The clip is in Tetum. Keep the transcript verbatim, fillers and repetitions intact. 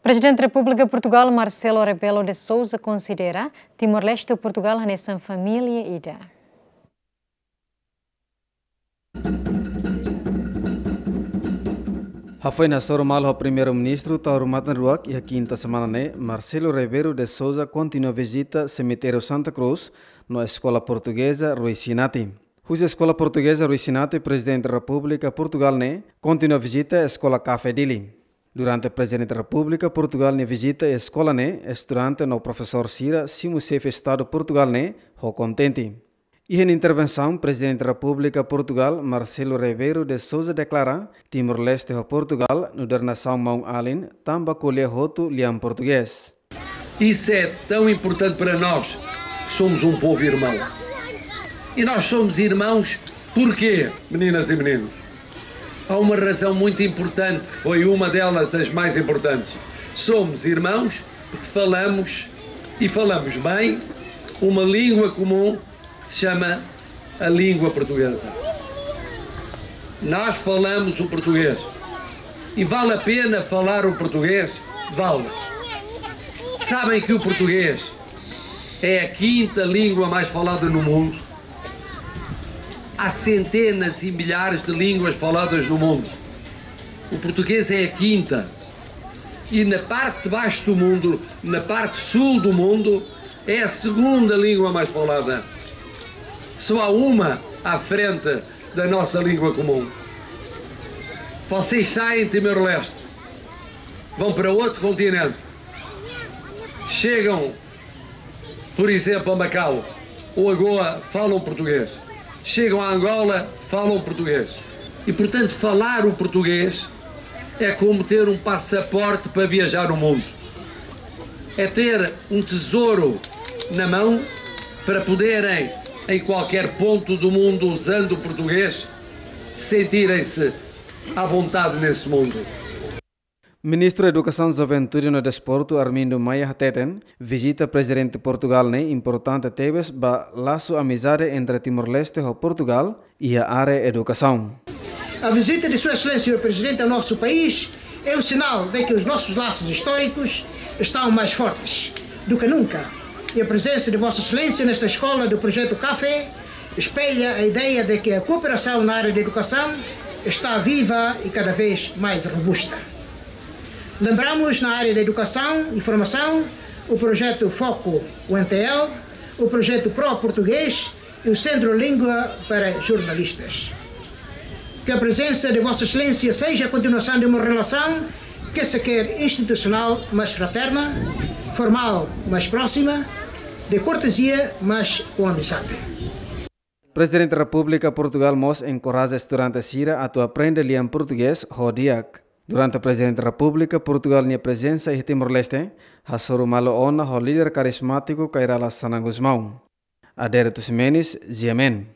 Prezidente Repúblika Portugál, Marcelo Rebelo de Sousa, konsidera Timor-Leste ho Portugál hanesan família ida. Hafoin hasoru malu ho Primeiru-Ministru Taur Matan Ruak iha kinta semana ne'e, Marcelo Rebelo de Sousa kontinua vizita Semitériu Santa Cruz no Eskola Portugeza Rui Sinati. Husi Eskola Portugeza Rui Sinati, Prezidente Repúblika Portugál ne'e kontinua vizita Eskola Café Dili. Durante Prezidente Repúblika Portugál nia vizita eskola ne'e, estudante no profesór sira simu Xefe Estadu Portugál ne'e ho kontente. Iha nia intervensaun, Prezidente Repúblika Portugál, Marcelo Rebelo de Sousa, deklara Timor-Leste ho Portugál nu'udar nasaun maun-alin, tanba ko'alia hotu lian portugés. Isso é tão importante para nós, que somos um povo irmão. E nós somos irmãos porquê, meninas e meninos? Há uma razão muito importante, que foi uma delas as mais importantes. Somos irmãos porque falamos, e falamos bem, uma língua comum que se chama a língua portuguesa. Nós falamos o português. E vale a pena falar o português? Vale. Sabem que o português é a quinta língua mais falada no mundo? Há centenas e milhares de línguas faladas no mundo. O português é a quinta. E na parte de baixo do mundo, na parte sul do mundo, é a segunda língua mais falada. Só há uma à frente da nossa língua comum. Vocês saem de Timor-Leste, vão para outro continente, chegam, por exemplo, a Macau ou a Goa, falam português. Chegam a Angola, falam português. E, portanto, falar o português é como ter um passaporte para viajar o mundo. É ter um tesouro na mão para poderem, em qualquer ponto do mundo, usando o português, sentirem-se à vontade nesse mundo. Ministru Edukasaun, Juventude no Desportu, Armindo Maia, hateten vizita Prezidente Portugál ne'e importante tebes ba lasu amizade entre Timor-Leste ho Portugál iha área edukasaun. A visita de Sua Excelência o Presidente ao nosso país é um sinal de que os nossos laços históricos estão mais fortes do que nunca. E a presença de Vossa Excelência nesta escola do Projeto Café espelha a ideia de que a cooperação na área de educação está viva e cada vez mais robusta. Lembramos, na área de educação e formação, o projeto Foco, o N T L, o projeto Pro Português e o Centro Língua para Jornalistas. Que a presença de Vossa Excelência seja a continuação de uma relação que se quer institucional, mas fraterna, formal, mas próxima, de cortesia, mas com amizade. Prezidente Repúblika Portugál mós enkoraja estudante sira atu aprende lian portugés ho di'ak. Durante Prezidente Repúblika Portugál nia prezensa iha Timor-Leste, hasoru malu ona ho líder karizmátiku Kay Rala Xanana Gusmão. Adérito Ximenes, G M N.